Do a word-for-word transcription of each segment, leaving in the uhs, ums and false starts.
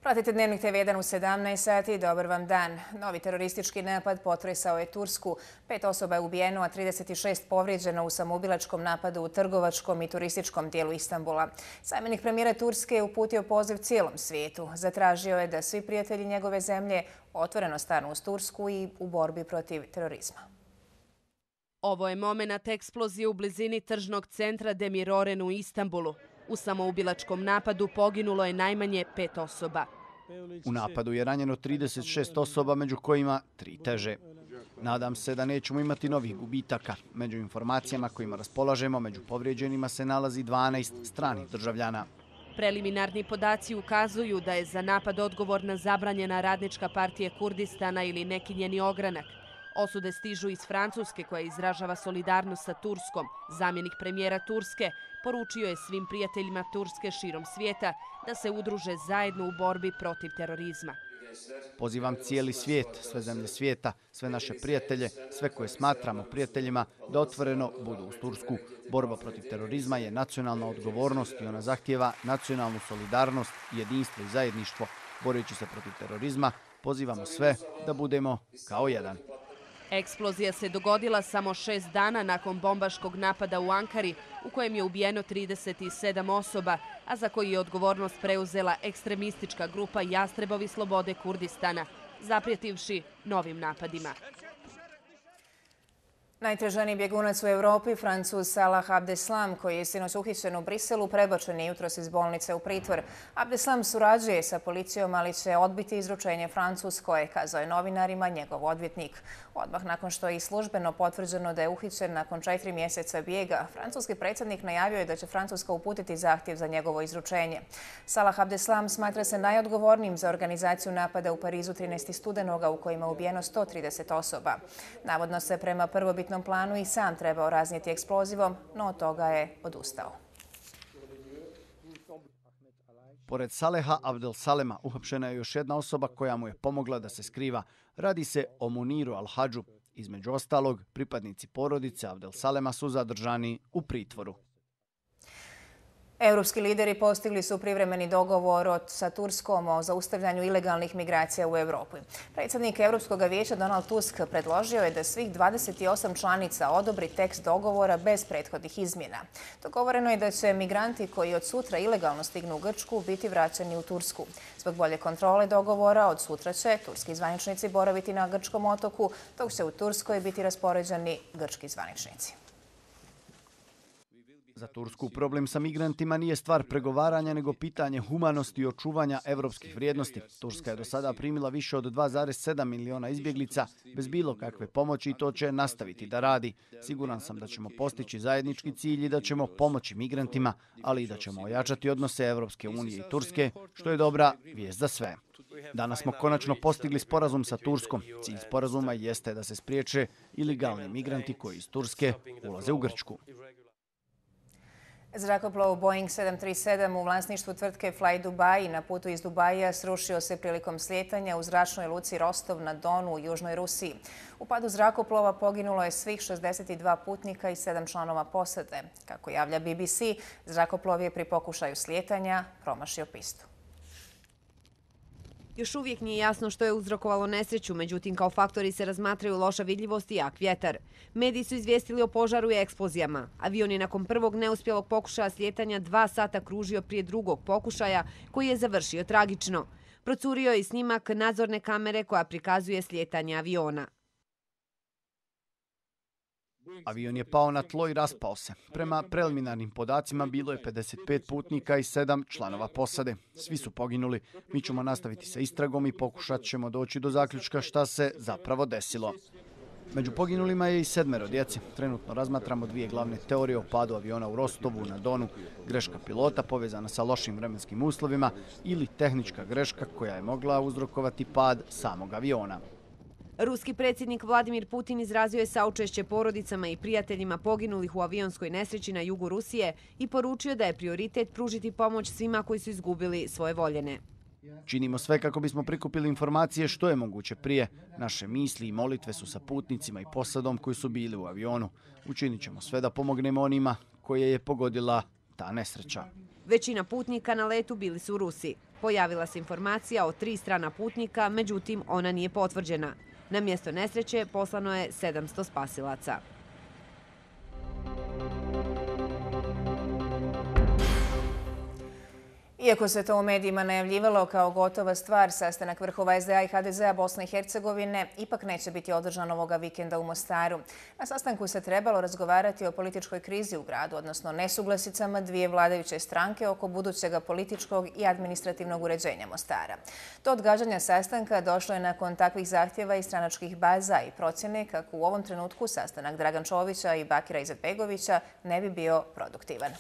Pratite Dnevnik te ve jedan u sedamnaest sati. Dobar vam dan. Novi teroristički napad potresao je Tursku. Pet osoba je ubijeno, a trideset šest povrijeđeno u samoubilačkom napadu u trgovačkom i turističkom dijelu Istanbula. Zamjenik premijera Turske je uputio poziv cijelom svijetu. Zatražio je da svi prijatelji njegove zemlje otvoreno stanu uz Tursku i u borbi protiv terorizma. Ovo je momenat eksplozije u blizini tržnog centra Demiroren u Istanbulu. U samoubilačkom napadu poginulo je najmanje pet osoba. U napadu je ranjeno trideset šest osoba, među kojima tri teže. Nadam se da nećemo imati novih gubitaka. Među informacijama kojima raspolažemo, među povrijeđenima se nalazi dvanaest stranih državljana. Preliminarni podaci ukazuju da je za napad odgovorna zabranjena Radnička partija Kurdistana ili neki njeni ogranak. Osude stižu iz Francuske, koja izražava solidarnost sa Turskom. Zamjenik premijera Turske poručio je svim prijateljima Turske širom svijeta da se udruže zajedno u borbi protiv terorizma. Pozivam cijeli svijet, sve zemlje svijeta, sve naše prijatelje, sve koje smatramo prijateljima, da otvoreno budu uz Tursku. Borba protiv terorizma je nacionalna odgovornost i ona zahtijeva nacionalnu solidarnost, jedinstvo i zajedništvo. Boreći se protiv terorizma, pozivamo sve da budemo kao jedan. Eksplozija se dogodila samo šest dana nakon bombaškog napada u Ankari, u kojem je ubijeno trideset sedam osoba, a za koji je odgovornost preuzela ekstremistička grupa Jastrebovi slobode Kurdistana, zaprijetivši novim napadima. Najtraženiji bjegunac u Europi, Francuz Salah Abdeslam, koji je sinoć uhićen u Briselu, prebačen je jutros iz bolnice u pritvor. Abdeslam surađuje sa policijom, ali će odbiti izručenje Francuskoj, kazao je novinarima njegov odvjetnik. Odmah nakon što je i službeno potvrđeno da je uhićen nakon četiri mjeseca bijega, francuski predsjednik najavio je da će Francuska uputiti zahtjev za njegovo izručenje. Salah Abdeslam smatra se najodgovornijim za organizaciju napada u Parizu trinaestog studenoga u kojima je ubijeno sto trideset osoba. Navodno se prema prvobitnom planu i sam trebao raznijeti eksplozivom, no od toga je odustao. Pored Saleha Abdelsalema uhapšena je još jedna osoba koja mu je pomogla da se skriva. Radi se o Muniru Al-Hadžu. Između ostalog, pripadnici porodice Abdelsalema su zadržani u pritvoru. Europski lideri postigli su privremeni dogovor sa Turskom o zaustavljanju ilegalnih migracija u Europi. Predsjednik Europskog vijeća Donald Tusk predložio je da svih dvadeset osam članica odobri tekst dogovora bez prethodnih izmjena. Dogovoreno je da će migranti koji od sutra ilegalno stignu u Grčku biti vraćeni u Tursku. Zbog bolje kontrole dogovora od sutra će turski zvaničnici boraviti na grčkom otoku, dok će u Turskoj biti raspoređeni grčki zvaničnici. Za Tursku problem sa migrantima nije stvar pregovaranja, nego pitanje humanosti i očuvanja evropskih vrijednosti. Turska je do sada primila više od dva zarez sedam miliona izbjeglica bez bilo kakve pomoći i to će nastaviti da radi. Siguran sam da ćemo postići zajednički cilj i da ćemo pomoći migrantima, ali i da ćemo ojačati odnose Evropske unije i Turske, što je dobra vijest za sve. Danas smo konačno postigli sporazum sa Turskom. Cilj sporazuma jeste da se spriječe ilegalni migranti koji iz Turske ulaze u Grčku. Zrakoplov Boeing sedam tri sedam u vlasništvu tvrtke Fly Dubai na putu iz Dubaija srušio se prilikom slijetanja u zračnoj luci Rostov na Donu u južnoj Rusiji. U padu zrakoplova poginulo je svih šezdeset dva putnika i sedam članova posade. Kako javlja B B C, zrakoplov je pri pokušaju slijetanja promašio pistu. Još uvijek nije jasno što je uzrokovalo nesreću, međutim kao faktori se razmatraju loša vidljivost i jak vjetar. Mediji su izvijestili o požaru i eksplozijama. Avion je nakon prvog neuspjelog pokušaja slijetanja dva sata kružio prije drugog pokušaja, koji je završio tragično. Procurio je i snimak nadzorne kamere koja prikazuje slijetanje aviona. Avion je pao na tlo i raspao se. Prema preliminarnim podacima bilo je pedeset pet putnika i sedam članova posade. Svi su poginuli. Mi ćemo nastaviti sa istragom i pokušat ćemo doći do zaključka šta se zapravo desilo. Među poginulima je i sedmero djece. Trenutno razmatramo dvije glavne teorije o padu aviona u Rostovu na Donu. Greška pilota povezana sa lošim vremenskim uslovima ili tehnička greška koja je mogla uzrokovati pad samog aviona. Ruski predsjednik Vladimir Putin izrazio je saučešće porodicama i prijateljima poginulih u avionskoj nesreći na jugu Rusije i poručio da je prioritet pružiti pomoć svima koji su izgubili svoje voljene. Činimo sve kako bismo prikupili informacije što je moguće prije. Naše misli i molitve su sa putnicima i posadom koji su bili u avionu. Učinit ćemo sve da pomognemo onima koje je pogodila ta nesreća. Većina putnika na letu bili su Rusi. Pojavila se informacija o tri strana putnika, međutim ona nije potvrđena. Na mjesto nesreće poslano je sedamsto spasilaca. Iako se to u medijima najavljivalo kao gotova stvar, sastanak vrhova es de a i ha de zea Bosne i Hercegovine ipak neće biti održan ovoga vikenda u Mostaru. Na sastanku se trebalo razgovarati o političkoj krizi u gradu, odnosno nesuglasicama dvije vladajuće stranke oko budućega političkog i administrativnog uređenja Mostara. Do odgađanja sastanka došlo je nakon takvih zahtjeva i stranačkih baza i procjene kako u ovom trenutku sastanak Dragan Čovića i Bakira Izetbegovića ne bi bio produktivan.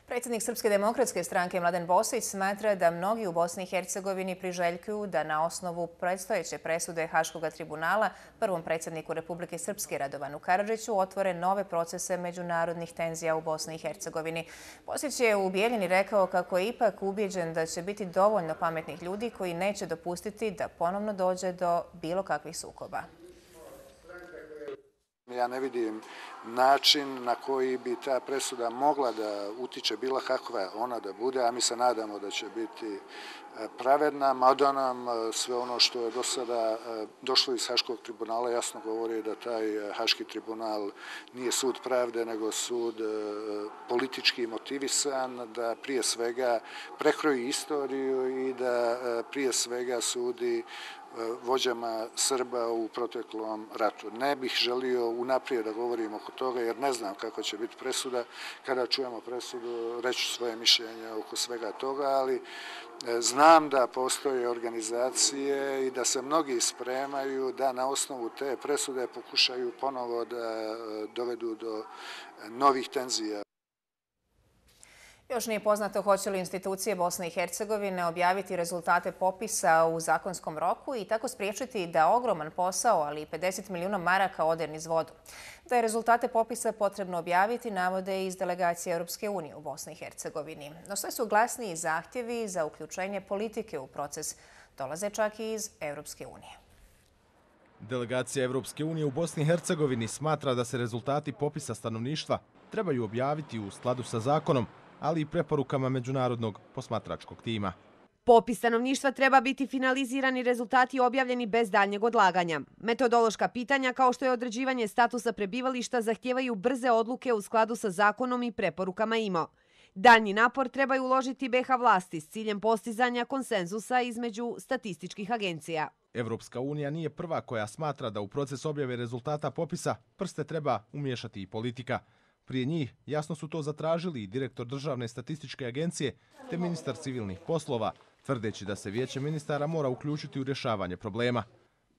Predsjednik Srpske demokratske stranke Mladen Bosić smatra da mnogi u Bosni i Hercegovini priželjkuju da na osnovu predstojeće presude Haškog tribunala prvom predsjedniku Republike Srpske Radovanu Karadžiću otvore nove procese međunarodnih tenzija u Bosni i Hercegovini. Bosić je u Bijeljini rekao kako je ipak ubijeđen da će biti dovoljno pametnih ljudi koji neće dopustiti da ponovno dođe do bilo kakvih sukoba. Ja ne vidim način na koji bi ta presuda mogla da utiče bilo kakva ona da bude, a mi se nadamo da će biti pravedna, mada nam sve ono što je do sada došlo iz Haškog tribunala jasno govori da taj Haški tribunal nije sud pravde, nego sud politički motivisan, da prije svega prekroji istoriju i da prije svega sudi vođama Srba u proteklom ratu. Ne bih želio unaprijed da govorim oko toga jer ne znam kako će biti presuda. Kada čujemo presudu, reću svoje mišljenje oko svega toga, ali znam da postoje organizacije i da se mnogi spremaju da na osnovu te presude pokušaju ponovo da dovedu do novih tenzija. Još nije poznato hoće li institucije Bosne i Hercegovine objaviti rezultate popisa u zakonskom roku i tako spriječiti da ogroman posao, ali i pedeset milijuna maraka ode niz vodu. Da je rezultate popisa potrebno objaviti, navode iz delegacije Europske unije u Bosni i Hercegovini. No sve su glasniji zahtjevi za uključenje politike u proces. Dolaze čak i iz Europske unije. Delegacija Europske unije u Bosni i Hercegovini smatra da se rezultati popisa stanovništva trebaju objaviti u skladu sa zakonom, ali i preporukama međunarodnog posmatračkog tima. Popis stanovništva treba biti finaliziran i rezultati objavljeni bez daljnjeg odlaganja. Metodološka pitanja kao što je određivanje statusa prebivališta zahtijevaju brze odluke u skladu sa zakonom i preporukama I M O. Daljnji napor trebaju uložiti be ha vlasti s ciljem postizanja konsenzusa između statističkih agencija. Evropska unija nije prva koja smatra da u proces objave rezultata popisa prste treba umiješati i politika. Prije njih jasno su to zatražili i direktor Državne statističke agencije te ministar civilnih poslova, tvrdeći da se vijeće ministara mora uključiti u rješavanje problema.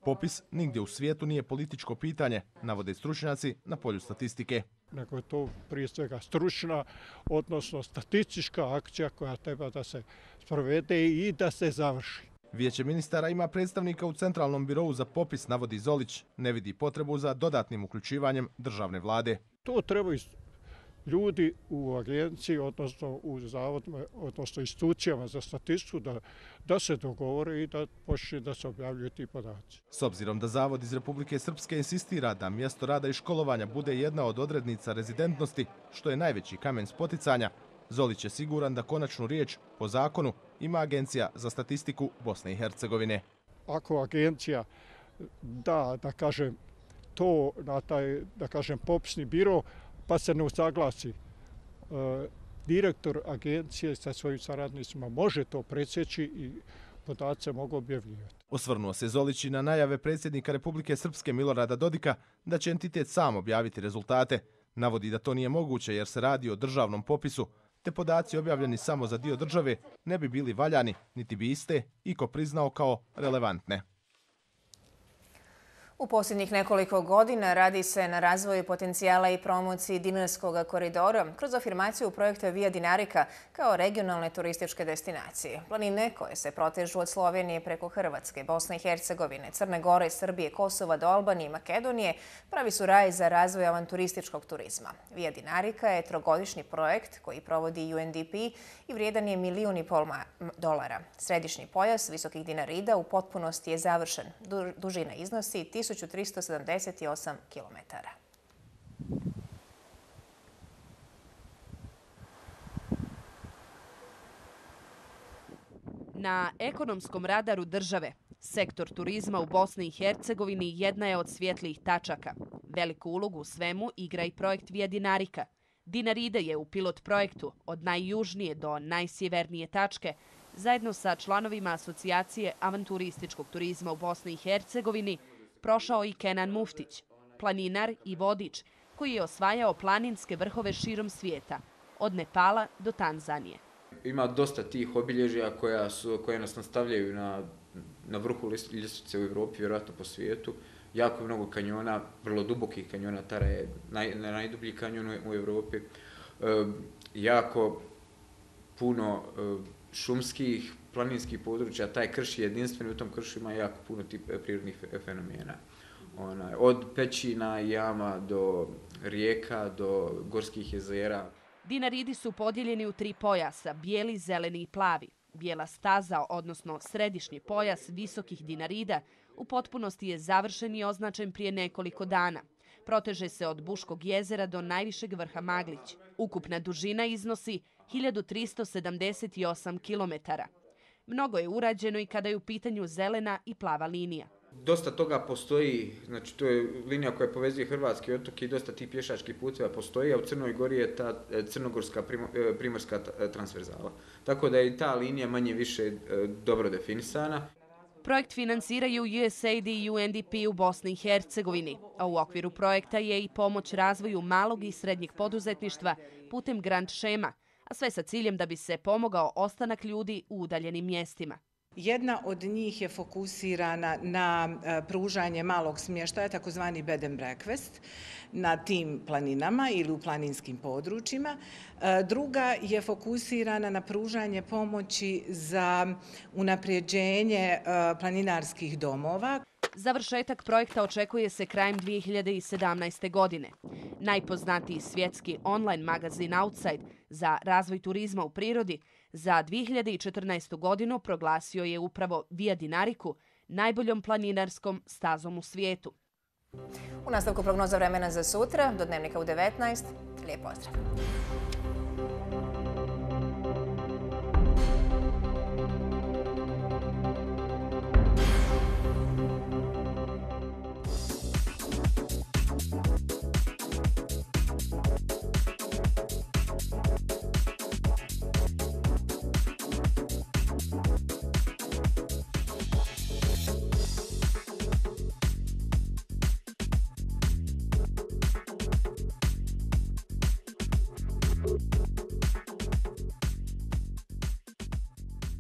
Popis nigdje u svijetu nije političko pitanje, navode stručnjaci na polju statistike. Nego je to prije svega stručna, odnosno statistička akcija koja treba da se sprovede i da se završi. Vijeće ministara ima predstavnika u Centralnom birovu za popis, navodi Zolić, ne vidi potrebu za dodatnim uključivanjem državne vlade. To trebaju ljudi u agenciji, odnosno u zavodima, odnosno institucijama za statistiku da, da se dogovore i da počne da se objavljuju ti podaci. S obzirom da Zavod iz Republike Srpske insistira da mjesto rada i školovanja bude jedna od odrednica rezidentnosti, što je najveći kamen spoticanja, Zolić je siguran da konačnu riječ po zakonu ima Agencija za statistiku Bosne i Hercegovine. Ako agencija da, da kažem, to na taj, da kažem, popisni biro, pa se ne usaglasi. E, direktor agencije sa svojim saradnicima može to presjeći i podace mogu objavljivati. Osvrnuo se Zolić i na najave predsjednika Republike Srpske Milorada Dodika da će entitet sam objaviti rezultate. Navodi da to nije moguće jer se radi o državnom popisu, te podaci objavljeni samo za dio države ne bi bili valjani, niti bi iste iko priznao kao relevantne. U posljednjih nekoliko godina radi se na razvoju potencijala i promociji Dinarskog koridora kroz afirmaciju projekta Via Dinarica kao regionalne turističke destinacije. Planine koje se protežu od Slovenije preko Hrvatske, Bosne i Hercegovine, Crne Gore, Srbije, Kosova do Albanije i Makedonije pravi su raj za razvoj avanturističkog turizma. Via Dinarica je trogodišnji projekt koji provodi U N D P i vrijedan je milijun i pol dolara. Središnji pojas visokih Dinarida u potpunosti je završen. Dužina iznosi tisuću tristo sedamdeset osam kilometara. Na ekonomskom radaru države, sektor turizma u Bosni i Hercegovini jedna je od svjetlijih tačaka. Veliku ulogu u svemu igra i projekt Via Dinarica. Dinaride je u pilot projektu od najjužnije do najsjevernije tačke zajedno sa članovima asocijacije avanturističkog turizma u Bosni i Hercegovini prošao i Kenan Muftić, planinar i vodič koji je osvajao planinske vrhove širom svijeta, od Nepala do Tanzanije. Ima dosta tih obilježja koja, su, koje nas nastavljaju na, na vrhu ljestvice u Evropi, vjerojatno po svijetu. Jako mnogo kanjona, vrlo dubokih kanjona, Tara je naj, najdublji kanjon u Evropi. E, jako puno e, šumskih, planinskih područja, taj krš je jedinstven, u tom kršu ima jako puno tip prirodnih fenomena. Onaj, od pećina, jama do rijeka, do gorskih jezera. Dinaridi su podijeljeni u tri pojasa, bijeli, zeleni i plavi. Bijela staza, odnosno središnji pojas visokih dinarida, u potpunosti je završen i označen prije nekoliko dana. Proteže se od Buškog jezera do najvišeg vrha Maglić. Ukupna dužina iznosi hiljadu tristo sedamdeset osam kilometara. Mnogo je urađeno i kada je u pitanju zelena i plava linija. Dosta toga postoji, znači to je linija koja povezuje hrvatski otok i dosta tih pješačkih puteva postoji, a u Crnoj Gori je ta crnogorska primorska transverzala. Tako da je i ta linija manje više dobro definisana. Projekt finansiraju U S A I D i U N D P u Bosni i Hercegovini, a u okviru projekta je i pomoć razvoju malog i srednjeg poduzetništva putem grant šema, a sve sa ciljem da bi se pomogao ostanak ljudi u udaljenim mjestima. Jedna od njih je fokusirana na pružanje malog smještaja, takozvani bed and breakfast, na tim planinama ili u planinskim područjima. Druga je fokusirana na pružanje pomoći za unapređenje planinarskih domova. Završetak projekta očekuje se krajem dvije hiljade sedamnaeste. godine. Najpoznatiji svjetski online magazin Outside za razvoj turizma u prirodi za dvije hiljade četrnaestu. godinu proglasio je upravo Via Dinaricu najboljom planinarskom stazom u svijetu. U nastavku prognoza vremena za sutra, do dnevnika u devetnaest. Lijep pozdrav!